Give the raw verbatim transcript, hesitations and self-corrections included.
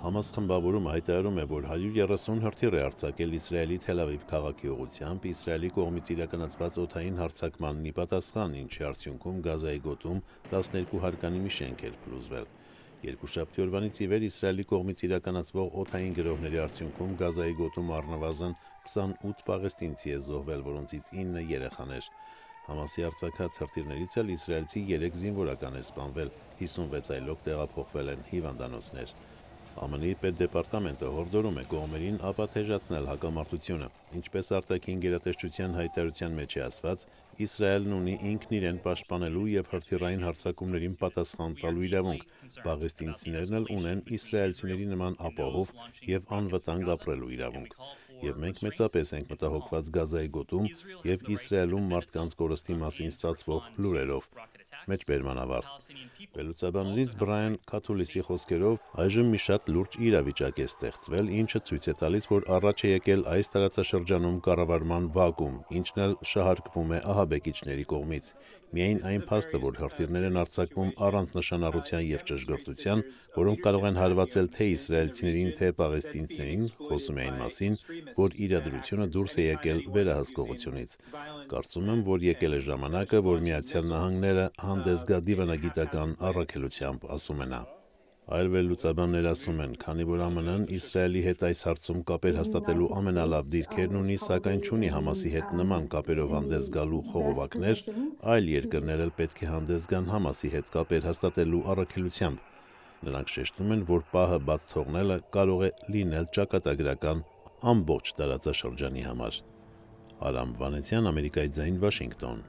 Համաս խմբավորումը հայտարարում է, որ հարյուր երեսուն հրթիռ է արձակել Իսրայելի Թել Ավիվ քաղաքի ուղղությամբ Իսրայելի կողմից իրականացված օդային հարձակմանն ի պատասխան, ինչի արդյունքում Գազայի գոտում տասներկու հարկանի շենք էր փլուզվել։ Երկուշաբթի օրվանից ի վեր Իսրայելի կողմից իրականացվող օդային գրոհների արդյունքում Գազայի գոտում առնվազն քսանութ պաղեստինցի է զոհվել, որոնցից ինը երեխաներ։ Համասի արձակած հրթիռներից էլ իսրայելցի երեք զինվորական է սպանվել, հիսունվեց այլոք տեղափոխվել են հիվանդանոցներ։ ԱՄՆ-ի պետդեպարտամենտը հորդորում է կողմերին ապաթեժացնել հակամարտությունը։ Ինչպես արտաքին գերատեսչության հայտարարության մեջ է ասված, Իսրայելն ունի ինքն իրեն պաշտպանելու և հրթիռային հարձակումներին պատասխան տալու իրավունք, պաղեստինցիներն էլ ունեն իսրայելցիների նման ապահով և անվտանգ ապրելու իրավունք։ Եվ մենք մեծապես ենք մտահոգված Գազայի գոտում և Իսրայելում մարդկանց կորստի մասին ստացվող լուրերով։ Մեջբերման ավարտ։ Վերլուծաբաններից Բրայան Քաթուլիսի խոսքերով, այժմ մի շատ լուրջ իրավիճակ է ստեղծվել, ինչը ցույց է տալիս, որ առաջ է եկել այս տարածաշրջանում կառավարման վակուում, ինչն էլ շահարկվում է ահաբեկիչների կողմից։ Միայն այն փաստը, որ հրթիռներ են արձակվում առանց նշանառության և ճշգրտության, որոնք կարող են հարվածել թե իսրայելցիներին, թե պաղեստինցիներին, խոսում է այն մասին, որ իրադրությունը դուրս է եկել վերահսկողությունից։ Կարծում եմ, որ եկել է ժամանակը, որ Միացյալ Նահանգները հանդես գա դիվանագիտական առաքելությամբ, ասում է նա։ Այլ վերլուծաբաններ ասում են, քանի որ ԱՄՆ-ն Իսրայելի հետ այս հարցում կապեր հաստատելու ամենալավ դիրքերն ունի, սակայն չունի Համասի հետ նման կապերով հանդես գալու խողովակներ, այլ երկրներ էլ պետք է հանդես գան Համասի հետ կապեր հաստատելու առաքելությամբ։ Նրանք շեշտում են, որ պահը բաց թողնելը կարող է լինել ճակատագրական ամբողջ տարածաշրջանի համար։ Արամ Վանեցյան, Ամերիկայի ձայն, Վաշինգտոն։